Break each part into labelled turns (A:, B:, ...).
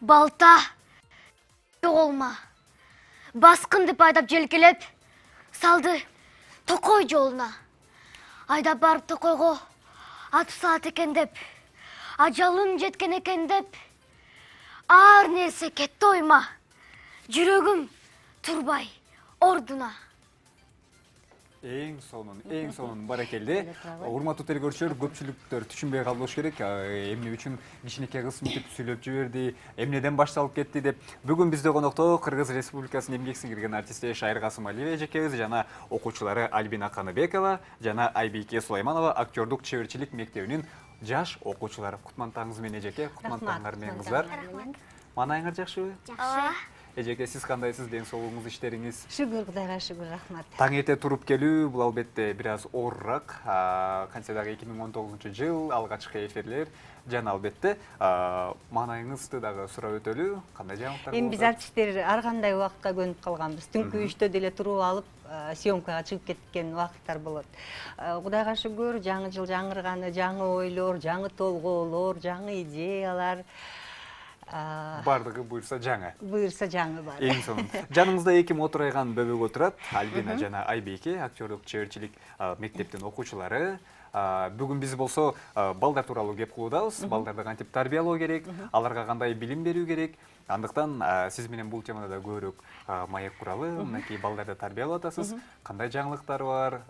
A: Балта жоголма. Баскын деп айдап желкелеп салды Токой жолуна. Айдап барып Токойго ат саат экен деп, ажалым жеткен экен деп, ар нерсе кетти ойма. Жүрөгүм турбай ордуна.
B: Эң сонун баракелде. Урматтуу телекөрүүчүлөр, көпчүлүктөр түшүнбөй калбош керек. Эмне үчүн кичинекей кыз мынтип сүйлөп жиберди, эмнеден башталып кетти деп. Бүгүн бизде конокто Кыргыз Республикасынын эмгек сиңирген артисти Шайыр Касымалиева эжекебиз жана окуучулары Альбина Каныбекова жана Айбийке Сулайманова актёрдук чеберчилик мектебинин жаш окуучулары. Кутмантаңыз менен эжеке, кутмантаңар менен кыздар. Маанайыңар жакшыбы?
A: Жакшы.
B: Эжеке, сиз кандайсыз? Ден соолугуңуз, иштериңиз?
C: Шүгүр Кудайга шүгүр, рахмат.
B: Таң эрте туруп келүү бул албетте бир аз оорураак. Кантсе дагы 2019-жыл алгачкы эфирлер жана албетте маанайыңызды дагы сурап өтөлү. Кандай жаңылыктар болду?
C: Эми биз артисттер ар кандай убакытка көнүп калганбыз. Түнкү 3-тө деле туруп алып, съемкага чыгып кеткен убакыттар болот. Кудайга шүгүр, жаңы жыл жаңырганы, жаңы ойлор, жаңы толгоолор, жаңы идеялар.
B: Бардыгы буйрса жаңы.
C: Буйрса жаңы бар.
B: Эң сонун. Жанымызда эки мотурайган бөбөк отурат. Альбина жана Айбийке, актёрдук чеберчилик мектептин окуучулары. Бүгүн биз болсо балдар тууралуу кеп кылуудабыз. Балдарды кантип тарбиялоо керек, аларга кандай билим берүү керек. Андыктан сиз менен бул темада да көбүрөөк маек куралы. Мынакей балдарды тарбиялап атасыз. Кандай жаңылыктар бар,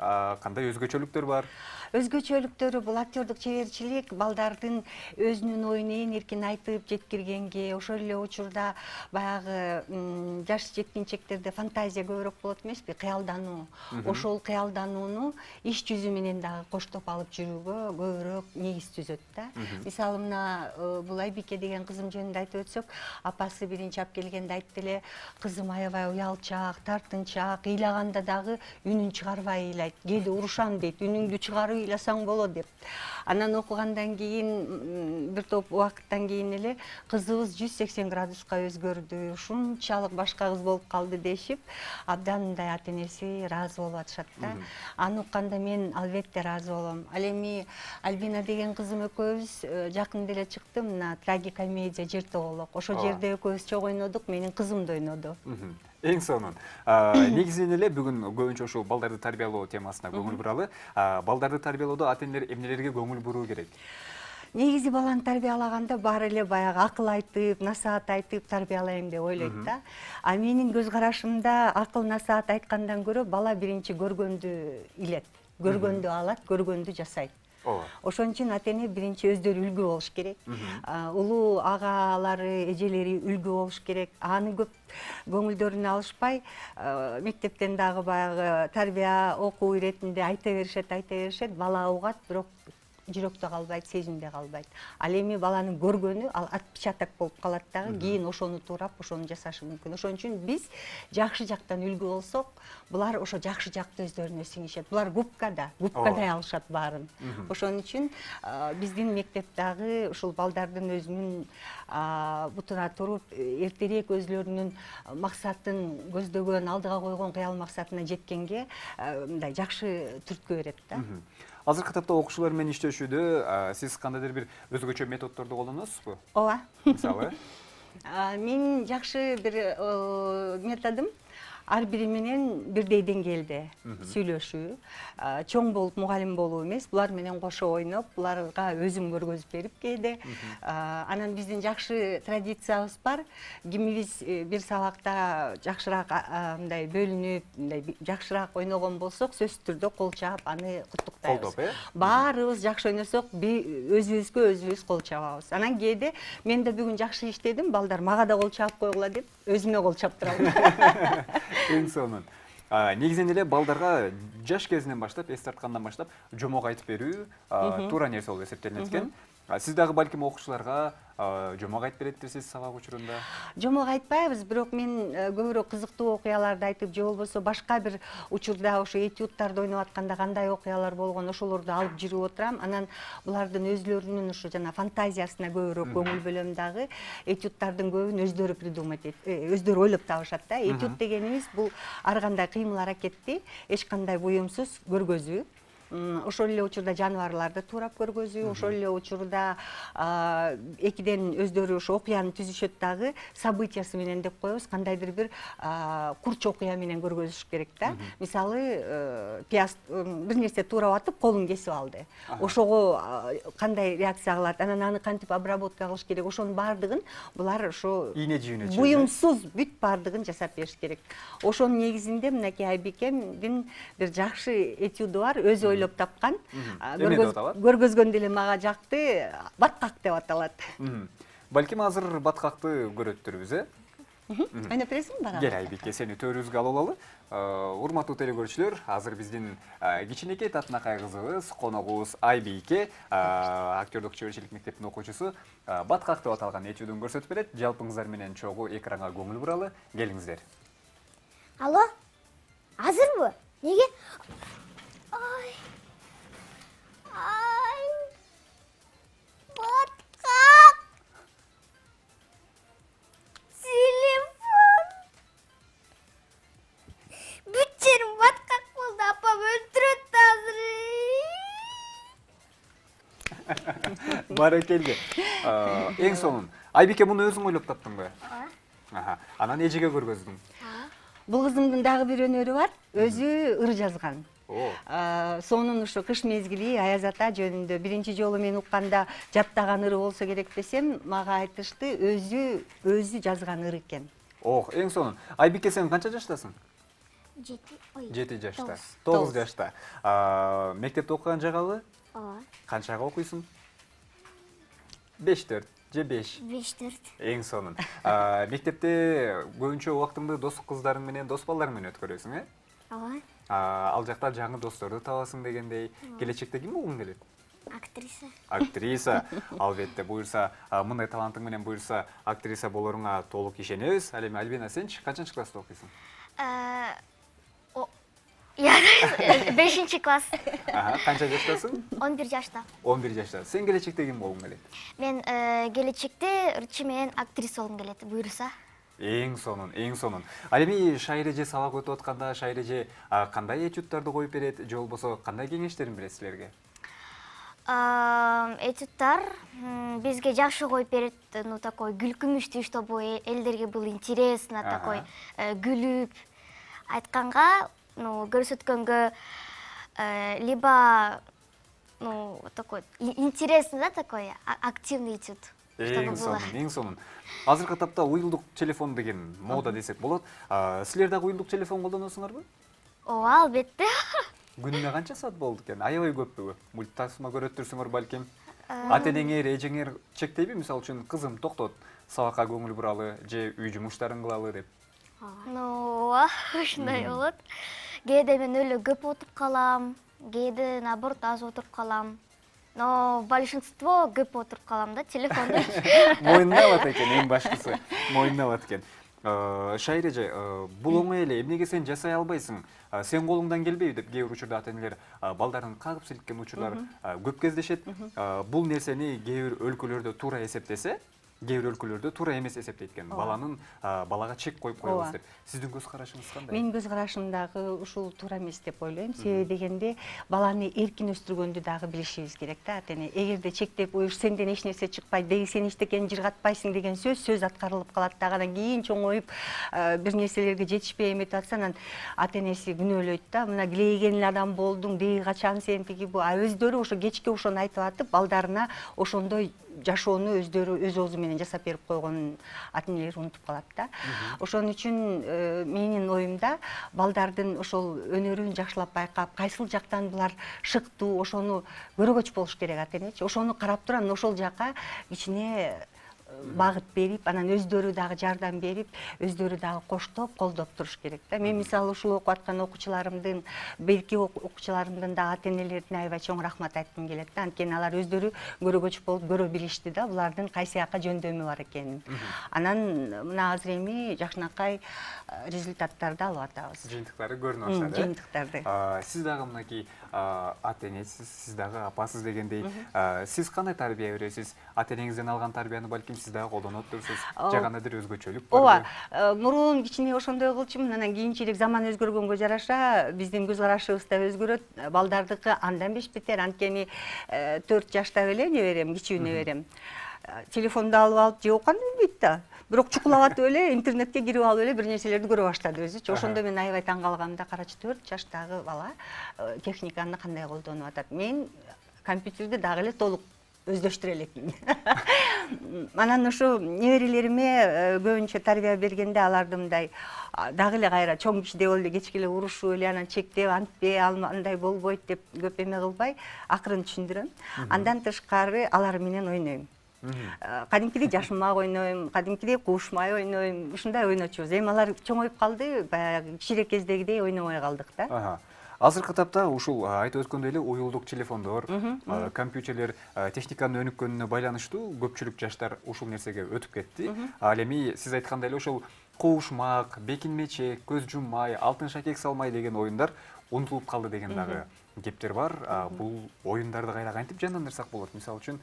B: кандай өзгөчөлүктөр бар?
C: Өзгөчөлүктөрү бул актёрдук чеберчилик балдардын өзүнүн оюн ээн эркин айтып жеткиргенге, ошол эле учурда баягы жаш жеткинчектерде фантазия көбүрөөк болот эмеспи, кыялдануу. Ошол кыялданууну иш жүзү менен дагы коштоп алып жүрүүгө көбүрөөк негиз түзөт да. Мисалы мына бул Айбике деген кызым жөнүндө айтып өтсөк, апасы биринчи алып келгенде айтты эле, кызым аябай уялчаак, тартынчаак, ыйлаганда дагы үнүн чыгарбай ыйлайт. Кээде урушам дейт, үнүңдү чыгарып ыйласаң болот деп. Анан окугандан кийин бир топ убакыттан кийин эле кызыбыз 180 градуска өзгөрдү, ушунчалык башка кыз болуп калды дешип, абдан мындай ата-энеси ыраазы болуп атышат да. Аны укканда мен албетте ыраазы болом. Ал эми Альбина деген кызым экөөбүз жакында эле чыкты мына трагикомедия Жер тоголок. Ошол жерде экөөбүз чогуу ойнодук, менин кызым да ойноду.
B: Эң сонун. Негизинен эле бүгүн көбүнчө ушул балдарды тарбиялоо темасына көңүл буралы. Балдарды тарбиялоодо ата-энелер эмнелерге көңүл буруу керек?
C: Негизи баланы тарбиялаганда баары эле баягы акыл айтып, насаат айтып тарбиялайм деп ойлойт да. А менин көз карашымда акыл насаат айткандан көрө бала биринчи көргөндү илет, көргөндү алат, көргөндү жасайт. Ошон үчүн ата-эне биринчи өздөрү үлгү болуш керек. Улуу агалары, эжелери үлгү болуш керек. Аны көп көңүлдөрүнө алышпай, мектептен дагы баягы тарбия окуу иретинде айта беришет, бала угат, бирок жүрөктө калбайт, сезимде калбайт. Ал эми баланын көргөнү ал отпечаток болуп калат дагы, кийин ошону туурап, ошону жасашы мүмкүн. Ошон үчүн биз жакшы жактан үлгү болсок, булар ошо жакшы жакты өздөрүнө сиңишет. Булар губкадай алышат баарын. Ошон үчүн биздин мектеп дагы ушул балдардын өзүнүн бутуна туруп, эртерээк өзлөрүнүн максатын көздөгөн, алдыга койгон кыял максатына жеткенге мындай жакшы түрткү берет да.
B: Азыркы тапта окуучулар менен иштешүүдө сиз кандайдыр бир өзгөчө методдорду колдоносузбу?
C: Ооба.
B: Мисалы?
C: Менин жакшы бир методум ар бири менен бирдей деңгээлде сүйлөшүү, чоң болуп мугалим болуу эмес, булар менен кошо ойноп, буларга өзүм көргөзүп берип кээде. Анан биздин жакшы традициябыз бар. Кимибиз бир сабакта жакшыраак мындай бөлүнүп, мындай жакшыраак ойногон болсок, сөзсүз түрдө кол чаап аны куттуктайбыз. Баарыбыз жакшы ойносок, өзүбүзгө өзүбүз кол чабабыз. Анан кээде мен да бүгүн жакшы иштедим, балдар мага да кол чаап койгула деп, өзүмө кол чаптырам.
B: Эң сонун. Негизинен эле балдарга жаш кезинен баштап, эс тарткандан баштап жомок айтып берүү туура нерсе болуп эсептелинет экен. Сиз дагы балким окуучуларга жомок айтып беретирсиз сабак учурунда?
C: Жомок айтпайбыз, бирок мен көбүрөөк кызыктуу окуяларды айтып, же болбосо башка бир учурда ошо этюдтарды ойноп атканда кандай окуялар болгон, ошолорду алып жүрүп отурам. Анан булардын өзлөрүнүн ошо жана фантазиясына көбүрөөк көңүл бөлөм дагы. Этюдтардын көбүн өздөрү придумать өздөрү ойлоп табышат да. Этюд дегенибиз бул ар кандай кыймыл аракетти эч кандай буюмсуз көргөзүү. ошол эле учурда жаныбарларды туурап көргөзүү, ошол эле учурда экиден өздөрү ошо окуяны түзүшөт дагы, событиясы менен деп коебуз, кандайдыр бир курч окуя менен көргөзүш керек да. Мисалы, пияз бир нерсе туурап атып, колун кесип алды. Ошого кандай реакция кылат, анан аны кантип обработка кылыш керек, ошонун баардыгын булар ошо
B: ийне жүйүнө
C: буюмсуз бүт баардыгын жасап бериш керек. Ошонун негизинде мынакей Айбикемдин бир жакшы этюду бар, өзү ойлоп тапкан. Көргөзгөндө эле мага жакты, баткак деп аталат.
B: Балким азыр баткакты көрөттүрбүз, э?
C: Ойноп бересиңби бара?
B: Кел Айбике, сени төрүбүзгө алып алалы. Урматтуу телекөрүүчүлөр, азыр биздин кичинекей татынакай кызыбыз, коногубуз Айбике, актёрдук чеберчилик мектептин окуучусу, баткак деп аталган этюдун көрсөтүп берет. Жалпыңыздар менен чогуу экранга көңүл буралы. Келиңиздер.
A: Алло? Азырбы? Неге? Ай. Баткак. Телефон. Бүт жерим баткак болду, апам өлтүрөт азыр.
B: Баракелде. Эң сонун. Айбике, муну өзүң ойлоп таптыңбы? Анан эжеге көргөздүң.
C: Бул кызымдын дагы бир өнөрү бар, өзү ыр жазган. Сонун ушу кыш мезгили Аяз ата жөнүндө биринчи жолу мен укканда жаттаган ыры болсо керек десем, мага айтышты, өзү жазган ыр экен.
B: Эң сонун. Айбике, сен канча жаштасың? 7 жашта. 9 жашта. Мектепте окуган жагабы?
A: Ооба.
B: Канчага окуйсуң? 5-4 же 5?
A: 5-4.
B: Эң сонун. Мектепте көбүнчө убактыңды достук кыздарың менен, дос балдарың менен өткөрөсүң, э?
A: Ооба.
B: Ал жакта жаңы досторду табасың дегендей. Келечекте ким болгуң келет?
A: Актриса.
B: Актриса. Албетте, буюрса, мындай талантың менен буюрса, актриса болоруңа толук ишенебиз. Ал эми Альбина, сенчи канчанчы класста окуйсуң?
A: 5 класс.
B: Канча жаштасың?
A: 11 жашта.
B: 11 жашта. Сен келечекте ким болгуң келет?
A: Мен келечекте ырчы менен актриса болгум келет, буюрса.
B: Эң сонун, эң сонун. Ал эми Шайреже сабак өтүп атканда Шайреже кандай этюдтарды коюп берет, же болбосо кандай кеңештерин берет силерге?
A: Этюдтар бизге жакшы коюп берет, такой күлкүмүштүү, чтобы элдерге бул интересно, такой күлүп айтканга, көрсөткөнгө, либо такой интересный, да, такой активный этюд.
B: Эң сонун, эң сонун. Азыркы тапта уюлдук телефон деген мода десек болот. Силер дагы уюлдук телефон колдоносуңарбы?
A: Ооба, албетте.
B: Күнүнө канча саат болду экен? Аябай көппү? Мультасма көрөттүрсүңөр балким. Ата-энеңер, эжеңер чектейби? Мисалы үчүн, кызым токтот, сабакка көңүл буралы же үй жумуштарын кылалы деп.
A: Ооба, ушундай болот. Кээде мен эле көп отуруп калам, кээде наоборот аз отуруп калам. Но большинство көп отуруп калам да, телефонду.
B: Моюндабат экен, эң башкысы. Моюндабат экен. Шайреже, бул оңой эле, эмнеге сен жасай албайсың? Сен колуңдан келбейби деп кээ бир учурда ата-энелер балдарын кагып силккен учурлар көп кездешет. Бул нерсени кээ бир өлкөлөрдө туура эсептесе, кээ бир өлкөлөрдө туура эмес эсептейт экен. Балага чек коюп коебуз деп. Сиздин көз карашыңыз кандай?
C: Менин көз карашым дагы ушул туура эмес деп ойлойм. Себеби дегенде баланы эркин өстүргөндү дагы билишибиз керек да, ата-эне. Эгерде чектеп, "Ой, сенден эч нерсе чыкпайт, деги сен эчтекени жыргатпайсың" деген сөз аткарылып калат дагы. Анан кийин чоңоюп бир нерселерге жетишпей эметип атса, анан ата-энеси күнөөлөйт да. Мына килейген адам болдуң, деги качан сен тиги бу. Өздөрү ошо кечке ошону айтып атып, балдарына ошондой жашоону өздөрү өз оозу менен жасап берип койгонун ата-энелер унутуп калат да. Ошон үчүн менин оюмда балдардын ошол өнөрүн жакшылап байкап, кайсыл жактан булар шыктуу, ошону көрөгөч болуш керек ата-энечи. Ошону карап туруп, анан ошол жака кичине багыт берип, анан өздөрү дагы жардам берип, өздөрү дагы коштоп, колдоп туруш керек да. Мен мисалы ушул окуп аткан окуучуларымдын, берки окуучуларымдын да ата-энелерине аябай чоң рахмат айткым келет да. Анткени алар өздөрү көрөгөч болуп көрө билишти да, булардын кайсы жака жөндөмү бар экенин. Анан мына азыр эми жакшынакай результаттарды алып атабыз.
B: Жыйынтыктары көрүнүп баштады.
C: Жыйынтыктарды.
B: Сиз дагы мынакей ата-энесиз, сиз дагы апасыз дегендей, сиз кандай тарбия бересиз? Ата-энеңизден алган тарбияны балким сиз дагы колдонуп отурсуз же кандайдыр өзгөчөлүк
C: ооба
B: барбы?
C: мурун кичине ошондой кылчумун, анан кийинчерээк заман өзгөргөнгө жараша биздин көз карашыбыз да өзгөрөт, балдардыкы андан бетер. Анткени 4 жаштагы эле неберем, кичүү неберем телефонду алып же окуганды билбейт да, бирок чукулап атып эле интернетке кирип алып эле бир нерселерди көрө баштады өзүчү. Ошондо мен аябай таң калгам да, карачы 4 жаштагы бала техниканы кандай колдонуп атат. Мен компьютерди дагы эле толук өздөштүрө элекмин. Анан ошо неберелериме көбүнчө тарбия бергенде аларды мындай дагы эле кайра чоң кишидей болуп эле кечке эле урушуп эле анан чектеп антпе андай болбойт деп көп эме кылбай акырын түшүндүрөм. Андан тышкары алар менен ойнойм. Кадимкидей жашынмак ойнойм, кадимкидей кубушмай ойнойм. Ушундай ойночубуз. Эми алар чоңоюп калды, баягы кичирээк кездегидей ойнобой калдык да.
B: Азыркы тапта ушул айтып өткөндөй эле уюлдук телефондор, компьютерлер техниканын өнүккөнүнө байланыштуу көпчүлүк жаштар ушул нерсеге өтүп кетти. Ал эми сиз айткандай эле ошол кубушмак, бекинмечек, көз жуммай, алтын шакек салмай деген оюндар унутулуп калды деген дагы кептер бар. Бул оюндарды кайра кантип жандандырсак болот? Мисалы үчүн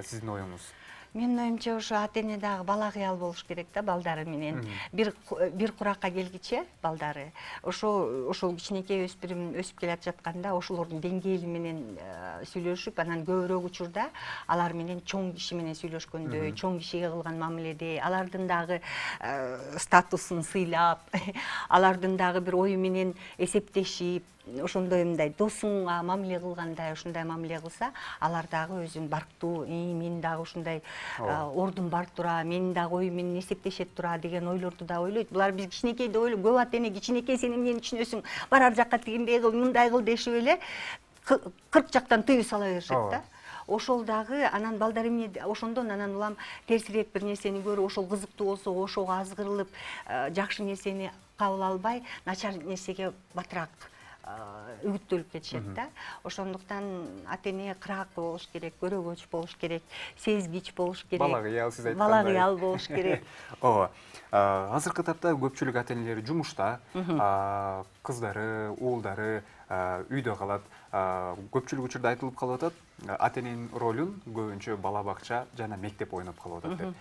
B: сиздин оюңуз?
C: Менин оюмча ошо ата-эне дагы бала кыял болуш керек да балдары менен. Бир куракка келгиче балдары ошол кичинекей өспүрүм өсүп келе жатканда ошолордун деңгээли менен сүйлөшүп, анан көбүрөөк учурда алар менен чоң киши менен сүйлөшкөндөй, чоң кишиге кылган мамиледей, алардын дагы статусун сыйлап, алардын дагы бир ою менен эсептешип, ошондой мындай досуңа мамиле кылгандай ушундай мамиле кылса, алар дагы өзүн барктуу, мен дагы ушундай ордум бар тура, менин дагы ою менен эсептешет тура деген ойлорду да ойлойт. Булар биз кичинекейде ойлойт, көп ата-эне кичинекей сен эмнени түшүнөсүң, бар ар жакка тигиндей кыл, мындай кыл дешип эле 40 жактан тыюу сала беришет да. Ошол дагы анан балдар эмне ошондон анан улам терсирээк бир нерсени көрүп, ошол кызыктуу болсо ошого азгырылып, жакшы нерсени кабыл албай, начар нерсеге батыраак үгүттөлүп кетишет да. Ошондуктан ата-эне кыраактуу болуш керек, көрөгөч болуш керек, сезгич болуш керек.
B: Бала кыял, сиз айткандай.
C: Бала кыял болуш керек.
B: Ооба. Азыркы тапта көпчүлүк ата-энелер жумушта, кыздары, уулдары үйдө калат. Көпчүлүк учурда айтылып калып атат, ата-эненин ролун көбүнчө бала бакча жана мектеп ойноп калып атат деп.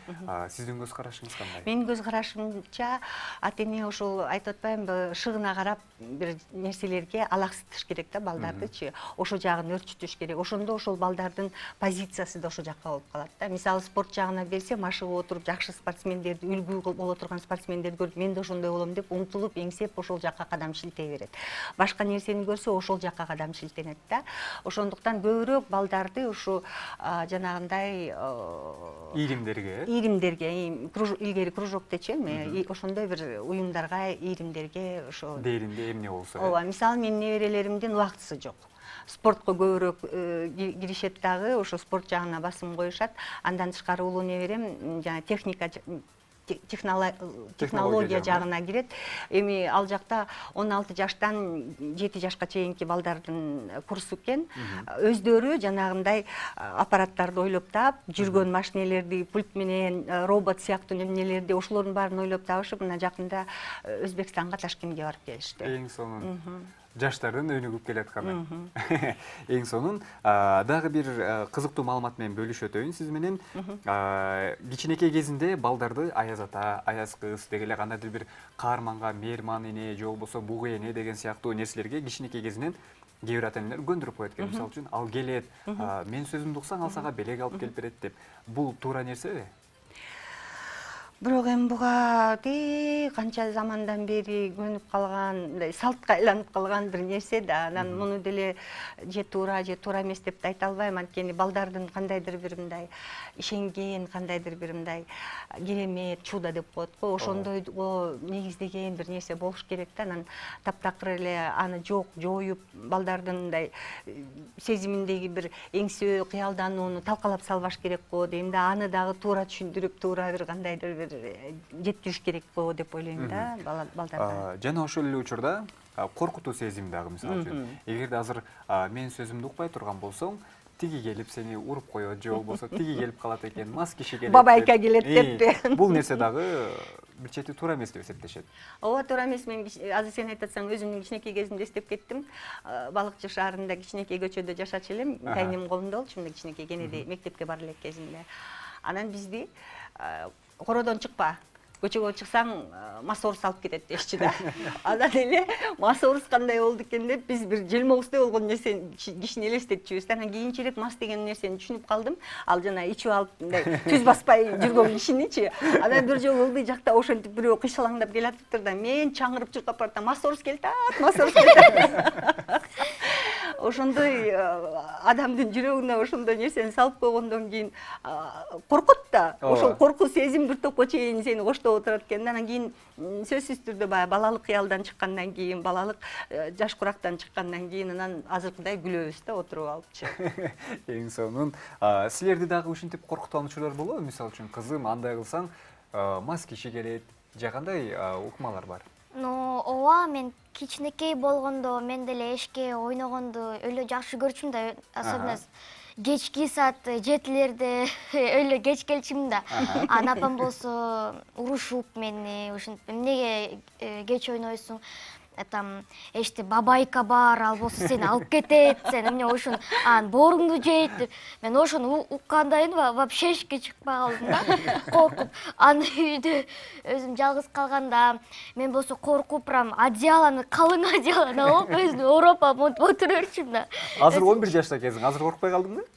B: Сиздин көз карашыңыз кандай?
C: Менин көз карашымча ата-эне ошол айтып атпаймынбы, шыгына карап бир нерселерге алаксытыш керек да балдардычы. Ошо жагын өрчүтүш керек. Ошондо ошол балдардын позициясы да ошо жакка болуп калат да. Мисалы спорт жагына берсем, ашыгып отуруп жакшы спортсмендерди, үлгү боло турган спортсмендерди көрүп, мен да ошондой болом деп умтулуп, эңсеп ошол жакка кадам шилтей берет. Башка нерсени көрсө, ошол жакка кадам шилтенет да. Ошондуктан көбүрөөк балдарды ушу жанагындай
B: ийримдерге
C: илгери кружок дечи эми, ошондой бир уюмдарга, ийримдерге ошо
B: дээринде эмне болсо.
C: Ооба, мисалы менин неберелеримдин убактысы жок. Спортко көбүрөөк киришет дагы, ошо спорт жагына басым коюшат. Андан тышкары улуу неберем жана технология жагына кирет. Эми ал жакта 16 жаштан 7 жашка чейинки балдардын курсу экен. Өздөрү жанагындай аппараттарды ойлоп таап, жүргөн машинелерди, пульт менен, робот сыяктуу эмнелерди, ошолордун баарын ойлоп табышып, мына жакында Өзбекстанга, Ташкентке барып келишти.
B: Эң сонун жаштардын өнүгүп келатканы. Эң сонун дагы бир кызыктуу маалымат менен бөлүшүп өтөйүн сиз менен. Кичинекей кезинде балдарды аяз ата, аяз кыз деги эле кандайдыр бир каарманга мээрман эне же болбосо бугу эне деген сыяктуу нерселерге кичинекей кезинен кээ бир ата-энелер көндүрүп коет экен. Мисалы үчүн ал келет, мен сөзүмдү уксаң ал сага белек алып келип берет деп. Бул туура нерсеби?
C: Бирок эми буга канча замандан бери көнүп калган, мындай салтка айланып калган бир нерсе да. Анан муну деле же туура эмес деп да айта албайм. Анткени балдардын кандайдыр бир мындай ишенген, кандайдыр бир мындай керемет, чудо деп коет го, ошондойго негиздеген бир нерсе болуш керек да. Анан таптакыр эле аны жоюп, балдардын мындай сезиминдеги бир эңсөө, кыялданууну талкалап салбаш керек го дейм да. Аны дагы туура түшүндүрүп, туура бир кандайдыр бир жеткириш керек го деп ойлойм да балдарга.
B: Жана ошол эле учурда коркутуу сезим дагы, мисалы үчүн. Эгерде азыр мен сөзүмдү укпай турган болсоң, тиги келип сени уруп коет, же болбосо тиги келип калат экен, мас киши келет.
C: Бабайка келет деппи.
B: Бул нерсе дагы бир чети туура эмес деп эсептешет.
C: Ооба, туура эмес. Мен азыр сен айтатсаң өзүмдүн кичинекей кезимди эстеп кеттим. Балыкчы шаарында кичинекей көчөдө жашачу элем. Кайнем колунда болчу, мындай кичинекей кенеде мектепке бара элек кезимде. Анан бизди кородон чыкпа, көчөгө чыксаң маса урус алып кетет дешчи да. Анан эле маса урус кандай болду экен деп биз бир желмогуздай болгон нерсени кишини элестетчүбүз. Анан кийинчерээк мас деген нерсени түшүнүп калдым. Ал жана ичип алып мындай түз баспай жүргөн кишиничи. Анан бир жолу ылдый жакта ошентип бирөө кыйшалаңдап келатыптыр да, мен чаңырып чуркап баратам, маса урус келатат, маса урус келатат. Ошондой адамдын жүрөгүнө ошондой нерсени салып койгондон кийин коркот да. Ошол коркуу сезим бир топко чейин сени коштоп отурат экен. Анан кийин сөзсүз түрдө баягы балалык кыялдан чыккандан кийин, балалык жаш курактан чыккандан кийин анан азыркыдай күлөбүз да отуруп алыпчы.
B: Эң сонун. Силерди дагы ушинтип коркуткан учурлар болобу? Мисалы үчүн, кызым, андай кылсаң мас киши келет, же кандай укмалар бар?
A: Ооба, мен кичинекей болгондо мен деле эшикке ойногонду өлө жакшы көрчүмүн да, особенно кечки саат 7-лерде өлө кеч келчүмүн да. Анан апам болсо урушуп мени, ушинтип эмнеге кеч ойнойсуң? Там эшти бабайка бар, ал болсо сени алып кетет, сен эмне ошон бооруңду жейт деп. Мен ошону уккандайын вообще эшикке чыкпай калдым да, коркуп. Аны үйдө өзүм жалгыз калганда мен болсо коркуп прям одеялону, калың одеялону алып өзүмдү ороп монтип отура берчүмүн да.
B: Азыр 11 жашта экенсиң, азыр коркпой калдыңбы?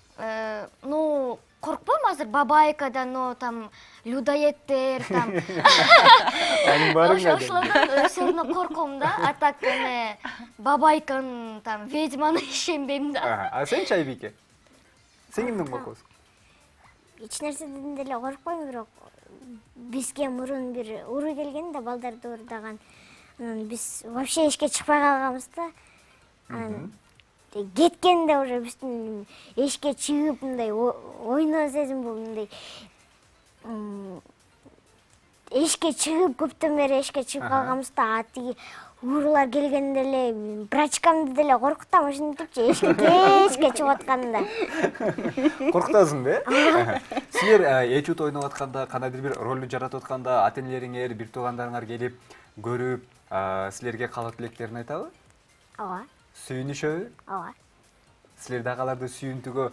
A: Коркпойм азыр бабайкадан, там людоедтер, там
B: Анын баарын
A: ошолордон все равно корком да. А так эме бабайканы, там ведьманы ишенбейм да.
B: А сенчи, Айбике? Сен кимден коркосуң?
D: Эч нерседен деле коркпойм, бирок бизге мурун бир уру келген да, балдарды урдаган. Анан биз вообще эшикке чыкпай калганбыз да. Анан кеткенде уже биздин эшикке чыгып мындай ойноо сезим болду, мындай эшикке чыгып көптөн бери эшикке чыгып калганбыз да. Тиги уурулар келгенде эле брачкамды деле коркутам, ошентипчи эшикке кечке чыгып атканда.
B: Коркутасың да? Силер этюд ойноп атканда, кандайдыр бир ролду жаратып атканда, ата-энелериңер, бир туугандарыңар келип көрүп, силерге каалоо тилектерин айтабы?
D: Ооба.
B: Сүйүнүшөбү?
D: Ооба.
B: Силер дагы аларды сүйүнтүүгө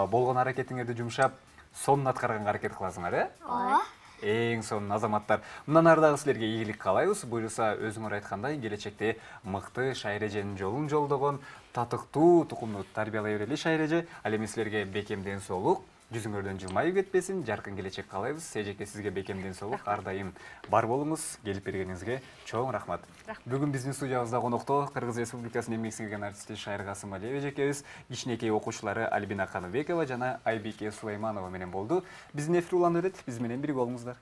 B: болгон аракетиңерди жумшап, сонун аткарганга аракет кыласыңар,
A: Ооба.
B: Эң сонун азаматтар. Мындан ары дагы силерге ийгилик каалайбыз. Буюрса, өзүңөр айткандай, келечекте мыкты Шайреженин жолун жолдогон, татыктуу тукумду тарбиялай берели Шайреже. Ал эми силерге бекем ден соолук, жүзүңөрдөн жылмайып кетпесин, жаркын келечек каалайбыз. Эжеке, сизге бекем ден соолук, ар дайым бар болуңуз. Келип бергениңизге чоң рахмат. Бүгүн биздин студиябызда конокто Кыргыз Республикасынын эмгек сиңирген артисти Шайыр Касымалиева эжекебиз, кичинекей окуучулары Альбина Каныбекова жана Айбике Сулайманова менен болду. Биздин эфир уланып берет, биз менен бирге болуңуздар.